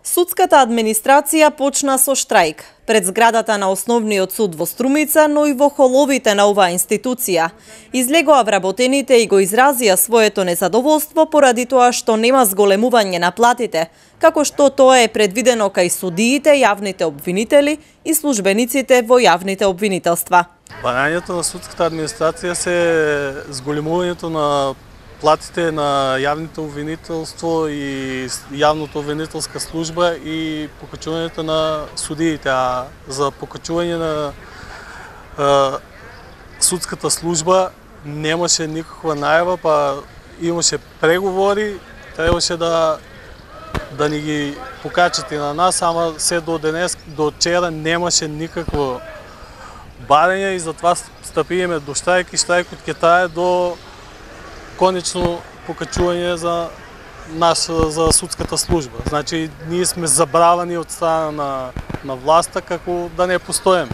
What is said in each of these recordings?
Судската администрација почна со штрајк пред зградата на Основниот суд во Струмица, но и во холовите на оваа институција. Излегоа вработените и го изразија своето незадоволство поради тоа што нема зголемување на платите, како што тоа е предвидено кај судиите, јавните обвинители и службениците во јавните обвинителства. Барањето на судската администрација се зголемувањето на платите на јавното обвинителство и јавното обвинителска служба и покачувањето на судиите, а за покачување на судската служба немаше никаква најава, па имаше преговори, требаше да ни ги покачат и на нас, ама се до денес, до вчера немаше никакво барање и затоа стапиме до штрајк и штрајкот ќе трае до конечно покачување за судската служба. Значи, ние сме забравени од страна на власта како да не постоеме.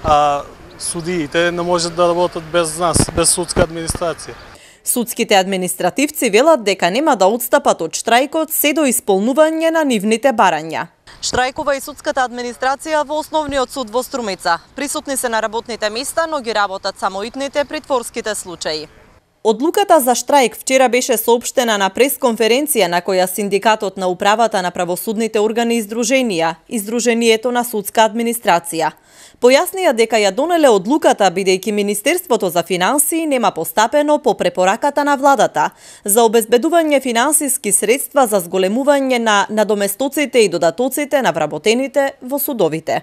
А судиите не можат да работат без нас, без судска администрација. Судските административци велат дека нема да отстапат од штрајкот се до исполнување на нивните барања. Штрајкува и судската администрација во Основниот суд во Струмица. Присутни се на работните места, но ги работат само итните притворските случаи. Одлуката за штрајк вчера беше соопштена на пресконференција на која синдикатот на управата на правосудните органи и здруженија, Издруженијето на судска администрација. Појаснија дека ја донеле одлуката бидејќи Министерството за финансии нема постапено по препораката на владата за обезбедување финансиски средства за зголемување на надоместоците и додатоците на вработените во судовите.